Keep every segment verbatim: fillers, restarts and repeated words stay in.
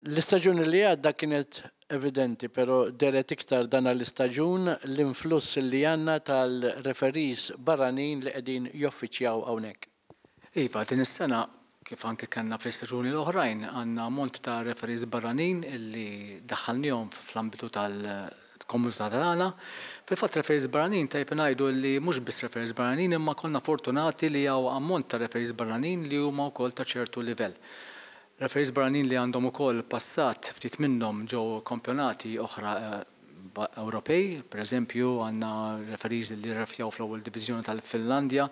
L-istaġun li għadda kienet evidenti, pero dehret iktar dan l-istaġun l-influss li għandna tal-referees barranin li qegħdin joffiċjaw hawnhekk. Iva, din is-sena, kif anke kellna fl-istaġuni l-oħrajn, għandna ammont ta' referees barranin illi daħħalnihom fl-ambitu tal-komunità tagħna. Fil-fatt, referees barranin, tajb ngħidu li mhux biss referees barranin, imma konna fortunati li hawn ammont ta' referees barranin li huma wkoll ta' ċertu livell. Referees barranin li għandhom ukoll passat, ftit minnhom ġew kampjonati oħra eh, Ewropej, per eżempju għandna referees li refjaw fl-ewwel diviżjoni tal-Finlandja,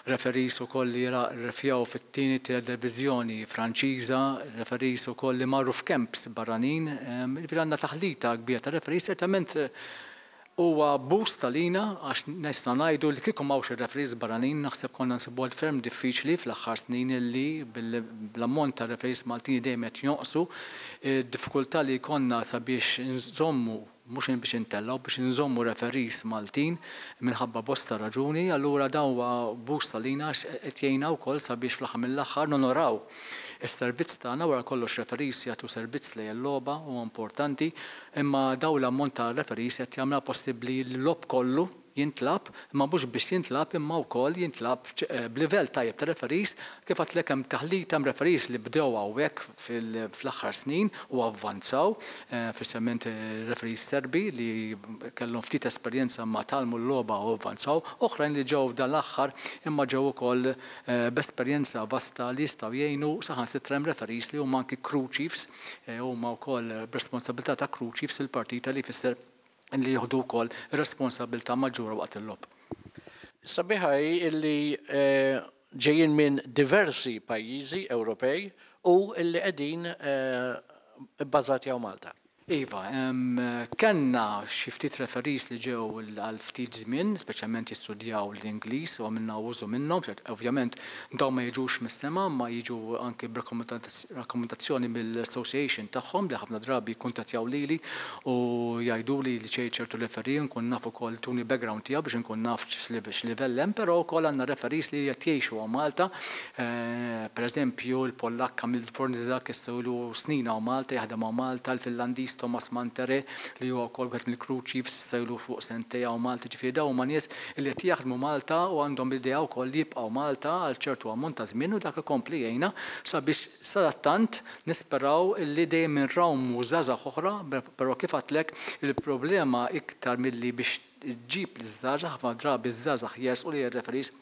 referees ukoll li refjaw fit-tieni divizjoni Franċiża, referees ukoll li marru f'camps barranin, ġifieri għandna taħlita kbira ta' referees. Ċertament huwa boost għalina, għax nista' ngħidu li kieku m'hawnx ir-referees barranin, naħseb konna nsibu ferm diffiċli fl-aħħar snin illi bl-ammont ta' referees Maltin dejjem qed jonqsu, diffikultà li konna sabiex nżommu, mhux biex intellgħu, biex nżommu referees Maltin minħabba bosta raġuni. Allura dan huwa boost għalina, qed jgħinna wkoll sabiex fl-aħħar mill-aħħar nonoraw is-servizz tagħna. Wara kollox, referees jagħtu servizz lejn il-logħba, huwa importanti, imma daw l-ammont ta' referees qed jagħmilha possibbli li l-logħob kollu jintlagħab, imma mhux biex jintlagħab, imma wkoll jintlagħab eh, b'livell tajjeb ta' referees. Kif għedtlek, hemm taħlita, hemm referees li bdew hawnhekk fl-aħħar snin u avvanzaw, eh, speċjalment eh, referees Serbi li kellhom ftit esperjenza ma tgħallmu l-logħba u avvanzaw, oħrajn li ġew dan l-aħħar imma ġew ukoll b'esperjenza vasta li jistgħu jgħinu. Saħansitra hemm referees li huma anki crew chiefs, huma wkoll b'responsabilità ta' crew chiefs fil-partita, li jfisser li jieħdu wkoll responsabilità maġġura waqt il-logħob. Sabiħa hi illi eh, ġejjin minn diversi pajjiżi Ewropej u illi qegħdin eh, bbażati hawn Malta. Iva, kellna xi ftit referees li ġew għal ftit żmien, speċjalment jistudjaw l-Ingliż, u għamilna użu minnhom. Ovvjament dawn ma jiġux mis-sema, ma jiġu anke b'rakkomandazzjoni mill-association tagħhom, li ħafna drabi jikkuntattjaw lili u jgħiduli li ċej ċertu referee, nkun naf ukoll tuni background tiegħu biex nkun naf x'livell hemm, però wkoll għandna referees li qed jgħixu Malta. Eh, per eżempju, il-Pollak Kamil Fornizak issa ilu snin hawn Malta, jaħdem Malta, il-Finlandiż Thomas Mantere, li huwa wkoll wieħed mill-crew chiefs, issa ilu fuq sentejn hawn Malta. Ġifieri dawn huma nies li qed jaħdmu Malta u għandhom l-idea wkoll li jibqgħu Malta għal ċertu ammont ta' żmien, u dak ikompli jgħinna sabiex sadattant nisperaw li dejjem inrawmu żgħażagħ oħra, però kif għedtlek, il-problema iktar milli biex ġġib l-żgħażagħ, ħafna drabi ż-żgħażagħ jersqu li referees,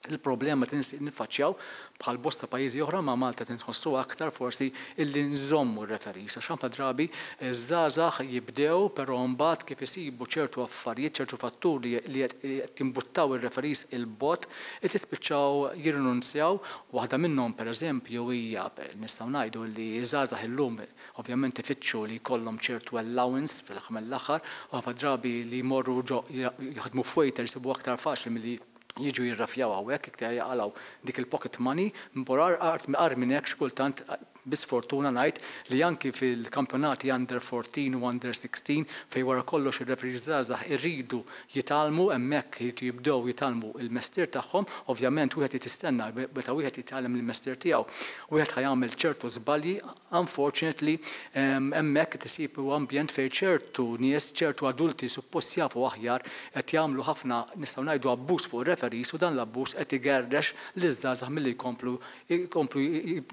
il-problema niffaċċjaw bħal bosta pajjiżi oħra, ma Malta tinħossu aktar forsi, illi nżommu r-referees. Għax ħafna drabi żgħażagħ jibdew, però mbagħad kif isibu ċertu affarijiet, ċertu fatturi li qed timbuttaw ir-referees 'il bogħod, qed jispiċċaw jirrinunzjaw. Waħda minnhom, pereżempju, hija, nistgħu ngħidu li żgħażagħ illum ovvjament ifittxu li jkollhom ċertu allowance fl-aħħar mill-aħħar, u ħafna drabi li jmorru jaħdmu f'waiter jsibu aktar faċli milli jiġu jirrafjaw hawnhekk, iktar jaqilgħu dik il-pocket money. Mborar agħar minn hekk, kultant bisfortuna ngħid li anki fil-kampjonati under fourteen u under sixteen, fej wara kollox ir-referees żgħażagħ irridu jitgħallmu hemmhekk, jridu jibdew jitgħallmu il-mestier tagħhom, ovvjament wieħed jistenna meta wieħed jitgħallem il-mestier tiegħu, wieħed ħa jagħmel ċertu żbalji. Unfortunately, hemmhekk tisib ambjent fejn ċertu nies, ċertu adulti suppost jafu aħjar, qed jagħmlu ħafna, nistgħu ngħidu, abbuż fuq referees, u dan l-abbuż qed igerrex liż-żgħażagħ milli jkomplu jkomplu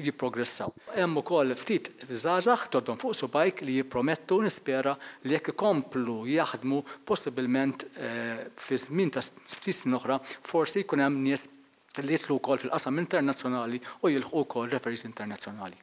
jipprogressaw. Hemm ukoll ftit żgħażagħ, tgħoddhom fuq subgħajk, li jippromettu. Nispera li jekk ikomplu jaħdmu, possibilment eh, fi żmien ta' ftit snin oħra forsi jkun hemm nies li jidħlu wkoll fil-qasam internazzjonali u jilħqu wkoll referees internazzjonali.